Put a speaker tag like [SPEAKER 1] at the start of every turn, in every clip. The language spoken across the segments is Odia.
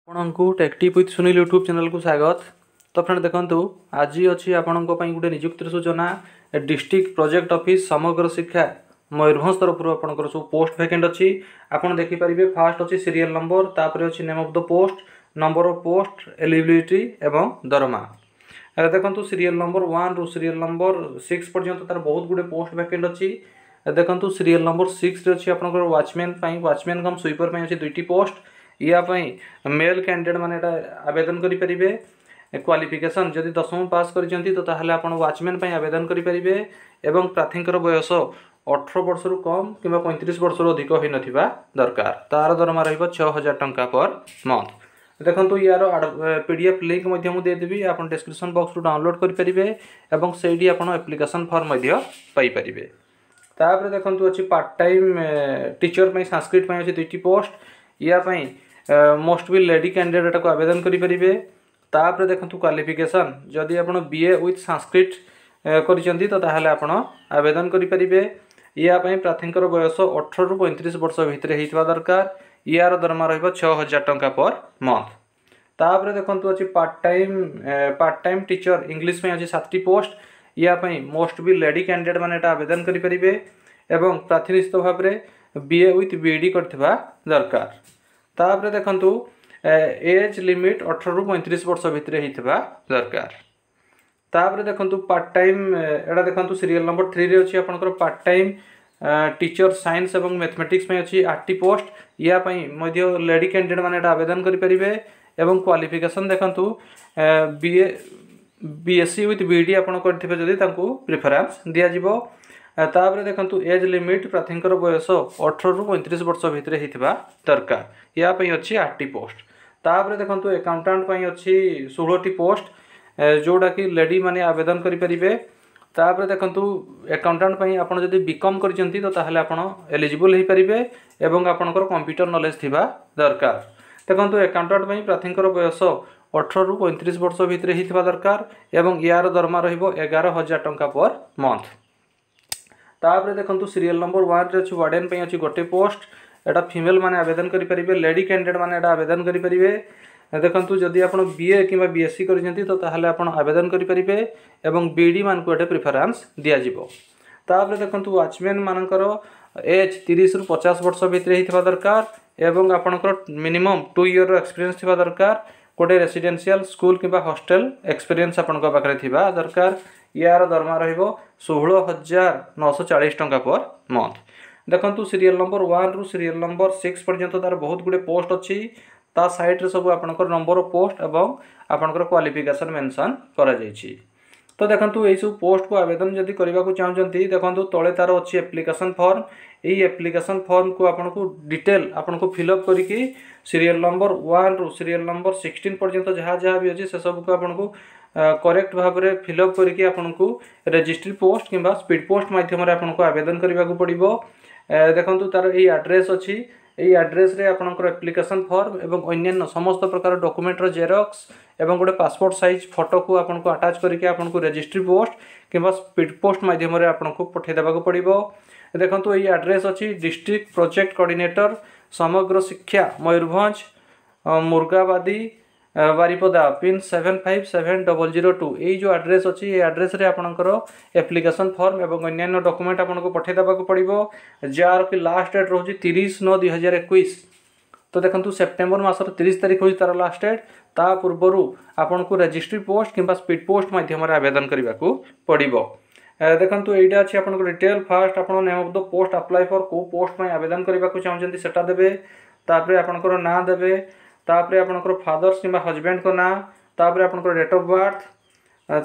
[SPEAKER 1] ଆପଣଙ୍କୁ ଟେକ୍ଟିପ୍ ୱିଥ୍ ସୁନୀଲ ୟୁଟ୍ୟୁବ୍ ଚ୍ୟାନେଲକୁ ସ୍ୱାଗତ। ତ ଫ୍ରେଣ୍ଡ, ଦେଖନ୍ତୁ, ଆଜି ଅଛି ଆପଣଙ୍କ ପାଇଁ ଗୋଟେ ନିଯୁକ୍ତିର ସୂଚନା। ଡିଷ୍ଟ୍ରିକ୍ଟ ପ୍ରୋଜେକ୍ଟ ଅଫିସ୍, ସମଗ୍ର ଶିକ୍ଷା, ମୟୂରଭଞ୍ଜ ତରଫରୁ ଆପଣଙ୍କର ସବୁ ପୋଷ୍ଟ ଭ୍ୟାକେଣ୍ଟ ଅଛି। ଆପଣ ଦେଖିପାରିବେ, ଫାଷ୍ଟ ଅଛି ସିରିଏଲ୍ ନମ୍ବର, ତାପରେ ଅଛି name of the post, number of post, eligibility ଏବଂ ଦରମା। ଏବେ ଦେଖନ୍ତୁ, ସିରିଏଲ୍ ନମ୍ବର 1ରୁ ସିରିଏଲ୍ ନମ୍ବର 6 ପର୍ଯ୍ୟନ୍ତ ତାର ବହୁତ ଗୁଡ଼ିଏ ପୋଷ୍ଟ ଭ୍ୟାକେଣ୍ଟ ଅଛି। ଦେଖନ୍ତୁ, ସିରିଏଲ୍ ନମ୍ବର 6ରେ ଅଛି ଆପଣଙ୍କର ୱାଚମ୍ୟାନ୍ ପାଇଁ, ୱାଚମ୍ୟାନ୍ କମ୍ ସୁଇପର ପାଇଁ ଅଛି ଦୁଇଟି ପୋଷ୍ଟ। ୟା ପାଇଁ ମେଲ୍ କ୍ୟାଣ୍ଡିଡେଟ୍ ମାନେ ଏଇଟା ଆବେଦନ କରିପାରିବେ। କ୍ୱାଲିଫିକେସନ୍ ଯଦି ଦଶମ ପାସ୍ କରିଛନ୍ତି, ତ ତାହେଲେ ଆପଣ ୱାଚମ୍ୟାନ୍ ପାଇଁ ଆବେଦନ କରିପାରିବେ ଏବଂ ପ୍ରାର୍ଥୀଙ୍କର ବୟସ 18 ବର୍ଷରୁ କମ୍ କିମ୍ବା 35 ବର୍ଷରୁ ଅଧିକ ହୋଇନଥିବା ଦରକାର। ତାର ଦରମା ରହିବ 6000 ଟଙ୍କା ପର୍ ମନ୍ଥ। ଦେଖନ୍ତୁ, ୟାର ପିଡିଏଫ୍ ଲିଙ୍କ୍ ମଧ୍ୟ ମୁଁ ଦେଇଦେବି, ଆପଣ ଡିସ୍କ୍ରିପସନ୍ ବକ୍ସରୁ ଡାଉନଲୋଡ଼୍ କରିପାରିବେ ଏବଂ ସେଇଠି ଆପଣ ଆପ୍ଲିକେସନ୍ ଫର୍ମ ମଧ୍ୟ ପାଇପାରିବେ। ତାପରେ ଦେଖନ୍ତୁ, ଅଛି ପାର୍ଟ ଟାଇମ୍ ଟିଚର୍ ପାଇଁ, ସାଂସ୍କ୍ରିଟ ପାଇଁ ଅଛି ଦୁଇଟି ପୋଷ୍ଟ। ୟା ପାଇଁ ମଷ୍ଟ ବି ଲେଡି କ୍ୟାଣ୍ଡିଡେଟ୍ ଏଟାକୁ ଆବେଦନ କରିପାରିବେ। ତାପରେ ଦେଖନ୍ତୁ, କ୍ୱାଲିଫିକେସନ୍ ଯଦି ଆପଣ ବିଏ ୱିଥ୍ ସାଂସ୍କ୍ରିଟ କରିଛନ୍ତି, ତ ତାହେଲେ ଆପଣ ଆବେଦନ କରିପାରିବେ। ୟା ପାଇଁ ପ୍ରାର୍ଥୀଙ୍କର ବୟସ 18ରୁ 35 ବର୍ଷ ଭିତରେ ହେଇଥିବା ଦରକାର। ୟାର ଦରମା ରହିବ 6000 ଟଙ୍କା ପର୍ ମନ୍ଥ। ତାପରେ ଦେଖନ୍ତୁ, ଅଛି ପାର୍ଟ ଟାଇମ୍ ଟିଚର୍ ଇଂଲିଶ ପାଇଁ ଅଛି ସାତଟି ପୋଷ୍ଟ। ୟା ପାଇଁ ମୋଷ୍ଟ ବି ଲେଡି କ୍ୟାଣ୍ଡିଡେଟ୍ ମାନେ ଏଟା ଆବେଦନ କରିପାରିବେ ଏବଂ ପ୍ରାର୍ଥୀ ନିଶ୍ଚିତ ଭାବରେ ବିଏ ୱିଥ୍ ବିଇଡ଼ି କରିଥିବା ଦରକାର। ତାପରେ ଦେଖନ୍ତୁ, ଏଜ୍ ଲିମିଟ୍ 18ରୁ 35 ବର୍ଷ ଭିତରେ ହେଇଥିବା ଦରକାର। ତାପରେ ଦେଖନ୍ତୁ, ପାର୍ଟ ଟାଇମ୍, ଏଇଟା ଦେଖନ୍ତୁ, ସିରିଏଲ୍ ନମ୍ବର 3ରେ ଅଛି ଆପଣଙ୍କର ପାର୍ଟ ଟାଇମ୍ ଟିଚର୍ ସାଇନ୍ସ ଏବଂ ମ୍ୟାଥମେଟିକ୍ସ ପାଇଁ ଅଛି ଆଠଟି ପୋଷ୍ଟ। ୟା ପାଇଁ ମଧ୍ୟ ଲେଡି କ୍ୟାଣ୍ଡିଡେଟ୍ ମାନେ ଏଇଟା ଆବେଦନ କରିପାରିବେ ଏବଂ କ୍ୱାଲିଫିକେସନ୍ ଦେଖନ୍ତୁ, ବିଏ, ବିଏସ୍ସି ୱିଥ୍ ବିଇଡ଼ି ଆପଣ କରିଥିବେ ଯଦି, ତାଙ୍କୁ ପ୍ରିଫରେନ୍ସ ଦିଆଯିବ। ତାପରେ ଦେଖନ୍ତୁ, ଏଜ୍ ଲିମିଟ୍ ପ୍ରାର୍ଥୀଙ୍କର ବୟସ 18ରୁ 35 ବର୍ଷ ଭିତରେ ହେଇଥିବା ଦରକାର। ୟା ପାଇଁ ଅଛି ଆଠଟି ପୋଷ୍ଟ। ତାପରେ ଦେଖନ୍ତୁ, ଆକାଉଣ୍ଟାଣ୍ଟ ପାଇଁ ଅଛି 16ଟି ପୋଷ୍ଟ, ଯେଉଁଟାକି ଲେଡି ମାନେ ଆବେଦନ କରିପାରିବେ। ତାପରେ ଦେଖନ୍ତୁ, ଆକାଉଣ୍ଟାଣ୍ଟ ପାଇଁ ଆପଣ ଯଦି ବିକମ୍ କରିଛନ୍ତି, ତ ତାହେଲେ ଆପଣ ଏଲିଜିବଲ୍ ହେଇପାରିବେ ଏବଂ ଆପଣଙ୍କର କମ୍ପ୍ୟୁଟର ନଲେଜ ଥିବା ଦରକାର। ଦେଖନ୍ତୁ, ଆକାଉଣ୍ଟାଣ୍ଟ ପାଇଁ ପ୍ରାର୍ଥୀଙ୍କର ବୟସ 18ରୁ 35 ବର୍ଷ ଭିତରେ ହେଇଥିବା ଦରକାର ଏବଂ ୟାର ଦରମା ରହିବ 11,000 ଟଙ୍କା ପର୍ ମନ୍ଥ। ତାପରେ ଦେଖନ୍ତୁ, ସିରିଏଲ୍ ନମ୍ବର 1ରେ ଅଛି ୱାର୍ଡେନ୍ ପାଇଁ ଅଛି ଗୋଟେ ପୋଷ୍ଟ। ଏଇଟା ଫିମେଲ୍ ମାନେ ଆବେଦନ କରିପାରିବେ, ଲେଡି କ୍ୟାଣ୍ଡିଡେଟ୍ ମାନେ ଏଇଟା ଆବେଦନ କରିପାରିବେ। ଦେଖନ୍ତୁ, ଯଦି ଆପଣ ବିଏ କିମ୍ବା ବିଏସ୍ସି କରିଛନ୍ତି, ତ ତାହେଲେ ଆପଣ ଆବେଦନ କରିପାରିବେ ଏବଂ ବିଇଡ଼ି ମାନଙ୍କୁ ଏଠି ପ୍ରିଫରେନ୍ସ ଦିଆଯିବ। ତାପରେ ଦେଖନ୍ତୁ, ୱାଚମ୍ୟାନ୍ ମାନଙ୍କର ଏଜ୍ 30ରୁ 50 ବର୍ଷ ଭିତରେ ହେଇଥିବା ଦରକାର ଏବଂ ଆପଣଙ୍କର ମିନିମମ୍ 2 ଇୟର୍ର ଏକ୍ସପିରିଏନ୍ସ ଥିବା ଦରକାର। ଗୋଟେ ରେସିଡେନ୍ସିଆଲ ସ୍କୁଲ କିମ୍ବା ହଷ୍ଟେଲ ଏକ୍ସପିରିଏନ୍ସ ଆପଣଙ୍କ ପାଖରେ ଥିବା ଦରକାର। ୟାର ଦରମା ରହିବ 16,940 ଟଙ୍କା ପର୍ ମନ୍ଥ। ଦେଖନ୍ତୁ, ସିରିଏଲ୍ ନମ୍ବର 1ରୁ ସିରିଏଲ୍ ନମ୍ବର 6 ପର୍ଯ୍ୟନ୍ତ ତାର ବହୁତ ଗୁଡ଼ିଏ ପୋଷ୍ଟ ଅଛି। ତା ସାଇଡ଼୍ରେ ସବୁ ଆପଣଙ୍କର ନମ୍ବର ଅଫ୍ ପୋଷ୍ଟ ଏବଂ ଆପଣଙ୍କର କ୍ୱାଲିଫିକେସନ୍ ମେନସନ୍ କରାଯାଇଛି। ତ ଦେଖନ୍ତୁ, ଏଇସବୁ ପୋଷ୍ଟକୁ ଆବେଦନ ଯଦି କରିବାକୁ ଚାହୁଁଛନ୍ତି, ଦେଖନ୍ତୁ, ତଳେ ତାର ଅଛି ଆପ୍ଲିକେସନ୍ ଫର୍ମ। ଏଇ ଆପ୍ଲିକେସନ୍ ଫର୍ମକୁ ଆପଣଙ୍କୁ ଡିଟେଲ୍ ଆପଣଙ୍କୁ ଫିଲ୍ଅପ୍ କରିକି ସିରିଏଲ୍ ନମ୍ବର 1ରୁ ସିରିଏଲ୍ ନମ୍ବର 16 ପର୍ଯ୍ୟନ୍ତ ଯାହା ଯାହା ବି ଅଛି, ସେସବୁକୁ ଆପଣଙ୍କୁ କରେକ୍ଟ ଭାବରେ ଫିଲ୍ଅପ୍ କରିକି ଆପଣଙ୍କୁ ରେଜିଷ୍ଟ୍ରି ପୋଷ୍ଟ କିମ୍ବା ସ୍ପିଡ୍ ପୋଷ୍ଟ ମାଧ୍ୟମରେ ଆପଣଙ୍କୁ ଆବେଦନ କରିବାକୁ ପଡ଼ିବ। ଦେଖନ୍ତୁ, ତାର ଏଇ ଆଡ୍ରେସ୍ ଅଛି। ଏଇ ଆଡ୍ରେସ୍ରେ ଆପଣଙ୍କର ଆପ୍ଲିକେସନ୍ ଫର୍ମ ଏବଂ ଅନ୍ୟାନ୍ୟ ସମସ୍ତ ପ୍ରକାର ଡକୁମେଣ୍ଟର ଜେରକ୍ସ ଏବଂ ଗୋଟେ ପାସପୋର୍ଟ ସାଇଜ୍ ଫଟୋକୁ ଆପଣଙ୍କୁ ଆଟାଚ୍ କରିକି ଆପଣଙ୍କୁ ରେଜିଷ୍ଟ୍ରି ପୋଷ୍ଟ କିମ୍ବା ସ୍ପିଡ୍ ପୋଷ୍ଟ ମାଧ୍ୟମରେ ଆପଣଙ୍କୁ ପଠାଇ ଦେବାକୁ ପଡ଼ିବ। ଦେଖନ୍ତୁ, ଏଇ ଆଡ୍ରେସ୍ ଅଛି ଡିଷ୍ଟ୍ରିକ୍ଟ ପ୍ରୋଜେକ୍ଟ କୋଅର୍ଡିନେଟର, ସମଗ୍ର ଶିକ୍ଷା, ମୟୂରଭଞ୍ଜ, ମୁର୍ଗାବାଦୀ, ବାରିପଦା, ପିନ୍ 757002। ଏଇ ଯେଉଁ ଆଡ୍ରେସ୍ ଅଛି, ଏଇ ଆଡ୍ରେସ୍ରେ ଆପଣଙ୍କର ଆପ୍ଲିକେସନ୍ ଫର୍ମ ଏବଂ ଅନ୍ୟାନ୍ୟ ଡକୁମେଣ୍ଟ ଆପଣଙ୍କୁ ପଠାଇ ଦେବାକୁ ପଡ଼ିବ, ଯାହାର କି ଲାଷ୍ଟ ଡେଟ୍ ରହୁଛି 30/9/2021। ତ ଦେଖନ୍ତୁ, ସେପ୍ଟେମ୍ବର ମାସର 30 ତାରିଖ ହେଉଛି ତାର ଲାଷ୍ଟ ଡେଟ୍। ତା ପୂର୍ବରୁ ଆପଣଙ୍କୁ ରେଜିଷ୍ଟ୍ରି ପୋଷ୍ଟ କିମ୍ବା ସ୍ପିଡ୍ ପୋଷ୍ଟ ମାଧ୍ୟମରେ ଆବେଦନ କରିବାକୁ ପଡ଼ିବ। ଦେଖନ୍ତୁ, ଏଇଟା ଅଛି ଆପଣଙ୍କ ଡିଟେଲ୍। ଫାଷ୍ଟ ଆପଣ name of the post apply for, କେଉଁ ପୋଷ୍ଟ ପାଇଁ ଆବେଦନ କରିବାକୁ ଚାହୁଁଛନ୍ତି ସେଟା ଦେବେ। ତାପରେ ଆପଣଙ୍କର ନାଁ ଦେବେ, ତାପରେ ଆପଣଙ୍କର ଫାଦର୍ସ କିମ୍ବା ହଜବେଣ୍ଡଙ୍କ ନାଁ, ତାପରେ ଆପଣଙ୍କର ଡେଟ୍ ଅଫ୍ ବାର୍ଥ,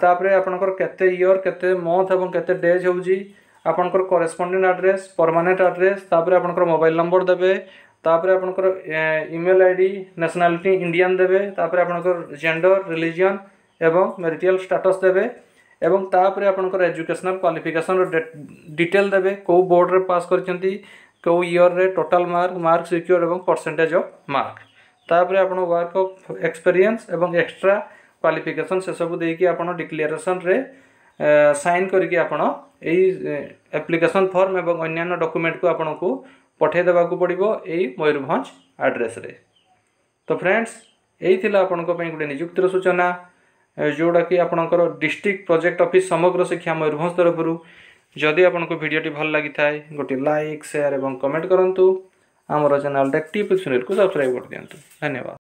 [SPEAKER 1] ତାପରେ ଆପଣଙ୍କର କେତେ ଇୟର୍, କେତେ ମନ୍ଥ ଏବଂ କେତେ ଡେଜ୍ ହେଉଛି, ଆପଣଙ୍କର କରେସ୍ପଣ୍ଡେଣ୍ଟ ଆଡ୍ରେସ୍, ପରମାନେଣ୍ଟ ଆଡ୍ରେସ୍, ତାପରେ ଆପଣଙ୍କର ମୋବାଇଲ ନମ୍ବର ଦେବେ, ତାପରେ ଆପଣଙ୍କର ଇମେଲ୍ ଆଇଡି, ନ୍ୟାସନାଲିଟି ଇଣ୍ଡିଆନ୍ ଦେବେ, ତାପରେ ଆପଣଙ୍କର ଜେଣ୍ଡର, ରିଲିଜିଅନ୍ ଏବଂ ମ୍ୟାରିଟାଲ୍ ଷ୍ଟାଟସ୍ ଦେବେ ଏବଂ ତାପରେ ଆପଣଙ୍କର ଏଜୁକେସନାଲ୍ କ୍ୱାଲିଫିକେସନ୍ର ଡିଟେଲ୍ ଦେବେ, କେଉଁ ବୋର୍ଡ଼ରେ ପାସ୍ କରିଛନ୍ତି, କେଉଁ ଇୟର୍ରେ, ଟୋଟାଲ୍ ମାର୍କ, ମାର୍କ ସିକ୍ୟୁର ଏବଂ ପରସେଣ୍ଟେଜ୍ ଅଫ୍ ମାର୍କ। ତାପରେ ଆପଣ ୱାର୍କ ଅଫ୍ ଏକ୍ସପେରିଏନ୍ସ ଏବଂ ଏକ୍ସଟ୍ରା କ୍ୱାଲିଫିକେସନ୍ ସେସବୁ ଦେଇକି ଆପଣ ଡିକ୍ଲାରେସନ୍ରେ ସାଇନ୍ କରିକି ଆପଣ ଏଇ ଆପ୍ଲିକେସନ୍ ଫର୍ମ ଏବଂ ଅନ୍ୟାନ୍ୟ ଡକୁମେଣ୍ଟକୁ ଆପଣଙ୍କୁ ପଠାଇ ଦେବାକୁ ପଡ଼ିବ ଏଇ ମୟୂରଭଞ୍ଜ ଆଡ୍ରେସ୍ରେ। ତ ଫ୍ରେଣ୍ଡସ୍, ଏଇ ଥିଲା ଆପଣଙ୍କ ପାଇଁ ଗୋଟେ ନିଯୁକ୍ତିର ସୂଚନା, ଯେଉଁଟାକି ଆପଣଙ୍କର ଡିଷ୍ଟ୍ରିକ୍ଟ ପ୍ରୋଜେକ୍ଟ ଅଫିସ୍ ସମଗ୍ର ଶିକ୍ଷା ମୟୂରଭଞ୍ଜ ତରଫରୁ। ଯଦି ଆପଣଙ୍କୁ ଭିଡ଼ିଓଟି ଭଲ ଲାଗିଥାଏ, ଗୋଟିଏ ଲାଇକ୍, ସେୟାର ଏବଂ କମେଣ୍ଟ କରନ୍ତୁ। ଆମର ଚ୍ୟାନେଲ୍ ଟେକ୍ ଟିପ୍ ସୁନୀଲକୁ ସବସ୍କ୍ରାଇବ୍ କରିଦିଅନ୍ତୁ। ଧନ୍ୟବାଦ।